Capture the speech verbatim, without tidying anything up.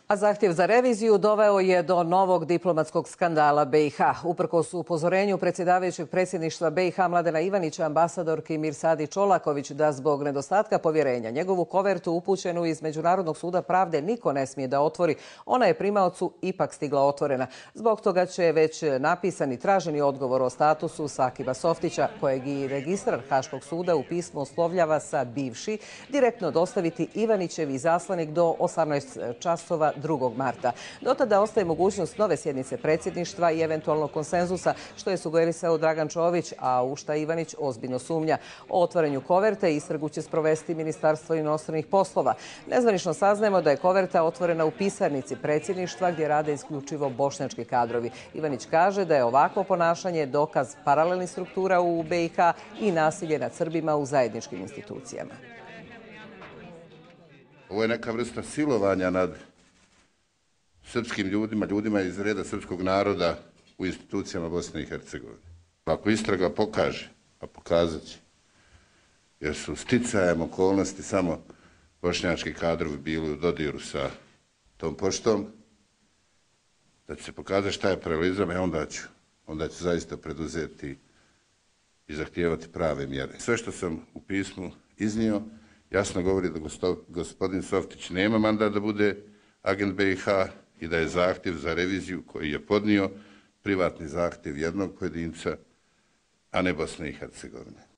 A zahtjev za reviziju doveo je do novog diplomatskog skandala B i H. Uprkos upozorenju predsjedavajućeg predsjedništva B i H Mladena Ivanića, ambasadorki Mirsadi Čolaković da zbog nedostatka povjerenja njegovu kovertu upućenu iz Međunarodnog suda pravde niko ne smije da otvori, ona je primaocu ipak stigla otvorena. Zbog toga će već napisani traženi odgovor o statusu Sakiba Softića, kojeg i registrar Haškog suda u pismu oslovljava sa bivši, direktno dostaviti Ivanićev izaslanik do osamnaest časova drugog marta. Do tada ostaje mogućnost nove sjednice predsjedništva i eventualnog konsenzusa, što je sugerisao Dragan Čović, a u šta Ivanić ozbiljno sumnja. O otvaranju koverte istragu će sprovesti Ministarstvo inostranih poslova. Nezvanično saznajemo da je koverta otvorena u pisarnici predsjedništva gdje rade isključivo bošnjački kadrovi. Ivanić kaže da je ovakvo ponašanje dokaz paralelnih struktura u B i H i nasilje nad Srbima u zajedničkim institucijama. Ovo je neka vrsta silovanja nad srpskim ljudima, ljudima iz reda srpskog naroda u institucijama Bosne i Hercegovine. Ako istraga pokaže, a pokazat će, jer su sticajem okolnosti samo bošnjački kadrovi bili u dodiru sa tom poštom, da će se pokazati šta je paralelizam, i onda ću, onda ću zaista preduzeti i zahtijevati prave mjere. Sve što sam u pismu iznio jasno govori da gospodin Softić nema mandat da bude agent B i H i da je zahtjev za reviziju koji je podnio privatni zahtjev jednog pojedinca, a ne Bosne i Hercegovine.